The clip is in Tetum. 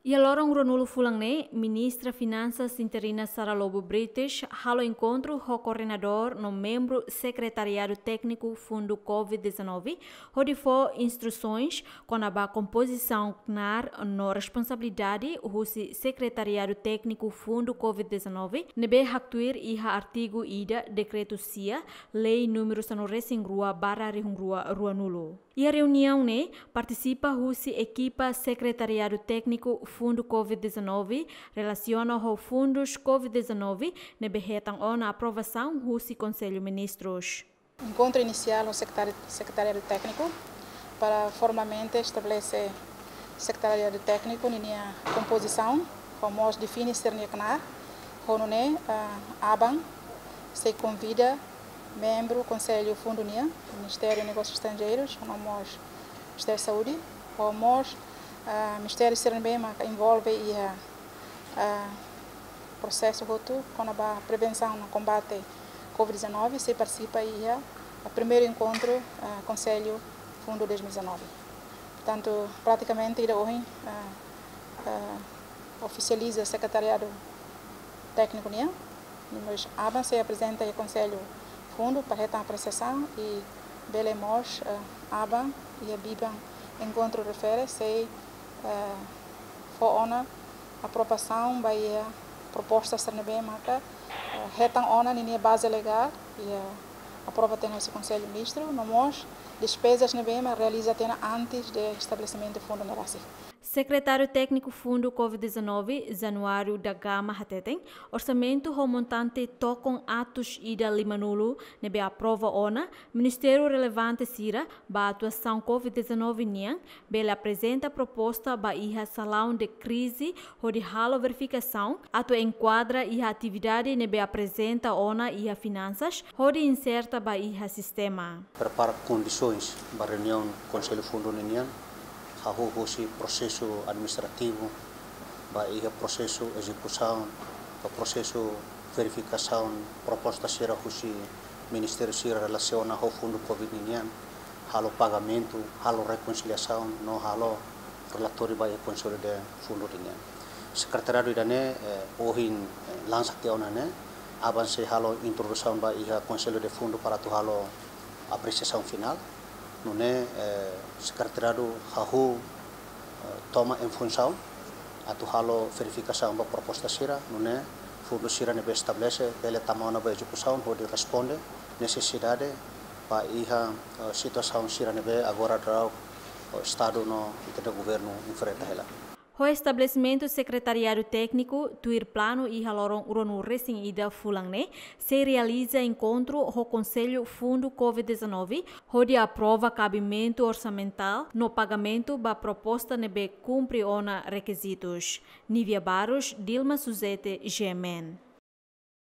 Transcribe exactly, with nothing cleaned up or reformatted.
Iha loron ruanulu fulan ne'e, Ministra Finansas interina Sara Lobo Brites halo enkontru ho koordenadór no membru Sekretariadu Tékniku Fundu covid dezanove, hodi fó instrusaun kona-ba kompozisaun knaar no responsabilidade husi Sekretariadu Tékniku Fundu covid dezanove, ne'ebé haktuir iha artigu ida Dekretu sia, Lei númeru sanulu-resin-rua barra rihun rua ruanulu. Iha reuniaun ne'e partisipa husi ekipa Sekretariadu Tékniku Fundu covid dezanove relasiona ho fundus covid dezanove ne'ebé hetan ona aprovasaun husi Konsellu Ministrus. Enkontru inisiál ho sekretari-, Sekretariadu Tékniku para formalmente estabelese Sekretariadu Tékniku ninia kompozisaun, ho mós define sira-nia knaar, ho nune'e, ah, aban sei konvida membru Konsellu Fundu nian, Ministériu Negósius Estranjeirus, no mós Ministériu Saúde, ho mós, ah, ministériu sira ne'ebé maka envolve iha, ah, prosesu hotu kona-ba prevensaun no kombate covid dezanove, sei partisipa iha, ah, primeiru enkontru, ah, Konsellu Fundu dois mil e dezanove. Portantu, pratikamente, ida ohin, ah, ah, ofisializa Sekretariadu Tékniku nian, mas aban sei aprezenta iha Konsellu Fundu para hetan apresiasaun i bele mós, eh, aban iha biban enkontru refere sei, eh, fó ona aprovasaun ba iha proposta sira ne'ebé maka, eh, hetan ona ninia baze legál, iha aprova tiha ona husi Konsellu Ministru, no mós despezas ne'ebé maka realiza tiha ona antes de estabelesimentu fundu ne'e rasik. Sekretáriu Tékniku Fundu covid dezanove, Januário da Gama hateten, orsamentu ho montante tokon atus ida limanulu ne'ebé aprova ona, ministériu relevante sira ba atuasaun covid dezanove nian bele aprezenta proposta ba iha salaun de krize hodi halo verifikasaun atu enkuadra iha atividade ne'ebé aprezenta ona iha finansas hodi inserta ba iha sistema. Prepara kondisoens ba reuniaun Konsellu Fundu ninian, hahú husi prosesu administrativu, ba iha prosesu ezekusaun, ba prosesu verifikasaun proposta sira husi ministériu sira relasiona ho fundu covid ninian, halo pagamentu, halo rekonsiliasaun, no halo relatóriu ba iha Konsellu de Fundu ninian. Sekretariadu ida-ne'e, eh, ohin, eh, lansa tiha ona ne'e, aban sei halo introdusaun ba iha Konsellu de Fundu para atu halo apresiasaun finál. Nune'e, eh, sekretariadu hahú, eh, toma em funsaun atu halo verifikasaun ba proposta sira, nune'e fundu sira ne'ebé estabelese bele tama ona ba ezekusaun hodi responde nesesidade ba iha, eh, situasaun sira ne'ebé agora daudaun, eh, Estadu no ita-nia governu enfrenta hela. Ho estabelesimentu Sekretariadu Tékniku, tuir planu iha loron ruanulu-resin-ida fulan ne'e, sei realiza enkontru ho Konsellu Fundu covid dezanove, hodi aprova kabimentu orsamentál no pagamentu ba proposta ne'ebé kumpre ona rekizitus. Nívia Barros, Dilma Suzete, G M N.